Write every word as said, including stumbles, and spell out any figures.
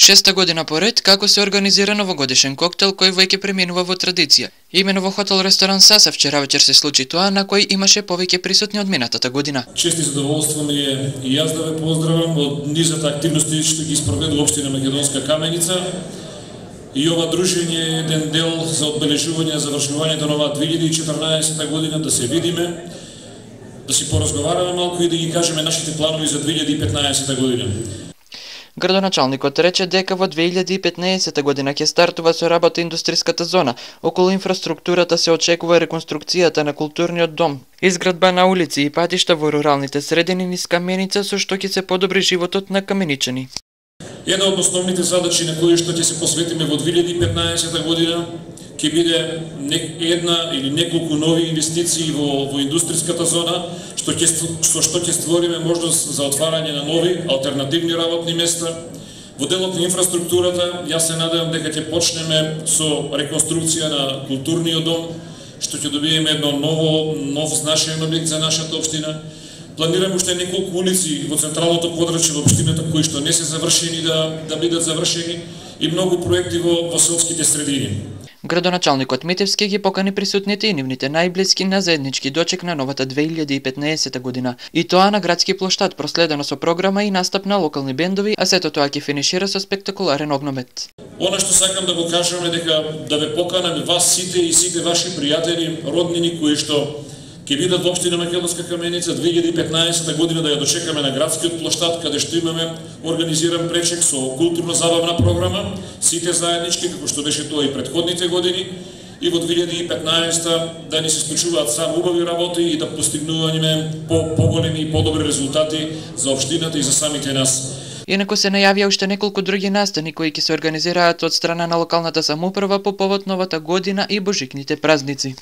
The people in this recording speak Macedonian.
Шеста година поред како се организира новогодишен коктел кој веќе преминува во традиција. Имено во хотел ресторан Саса вчера вечер се случи тоа на кој имаше повеќе присутни од минатата година. Чест и задоволство ми е и јас да ве поздравам од низата активности што ги спроведу општина Македонска Каменица. И ова дружење е еден дел за одбележување завршувањето на оваа две илјади и четрнаесета година, да се видиме, да си поразговараме малку и да ги кажеме нашите планови за две илјади и петнаесета година. Градоначалникот рече дека во две илјади и петнаесета година ќе стартува со работа индустријската зона. Околу инфраструктурата се очекува реконструкцијата на културниот дом, изградба на улици и патишта во руралните средини низ Каменица, со што ќе се подобри животот на каменичани. Една од основните задачи на кои што ќе се посветиме во две илјади и петнаесета година ќе биде една или неколку нови инвестиции во, во индустријската зона, што ќе, со што ќе створиме можност за отварање на нови алтернативни работни места. Во делот на инфраструктурата, јас се надевам дека ќе почнеме со реконструкција на културниот дом, што ќе добиеме едно ново, нов значаен објект за нашата општина. Планираме уште неколку улици во централното подрачје во општината кои што не се завршени да, да бидат завршени и многу проекти во, во селските средини. Градоначалникот Митевски ги покани присутните и нивните најблиски на заеднички дочек на новата две илјади и петнаесета година. И тоа на градски плоштад, проследено со програма и настап на локални бендови, а сето тоа ќе финишира со спектакуларен огномет. Она што сакам да го кажам е дека да ве поканам вас сите и сите ваши пријатели, роднини кои што ќе бидат во општина Македонска Каменица две илјади и петнаесета година да ја дочекаме на градскиот плоштад, каде што имаме организиран пречек со културно-забавна програма, сите заеднички, како што беше тоа и претходните години, и во две илјади и петнаесета да ни се случуваат само убави работи и да постигнуваме по поголеми и подобри резултати за општината и за самите нас. Инаку се најавија уште неколку други настани кои ќе се организираат од страна на локалната самоуправа по повод новата година и божикните празници.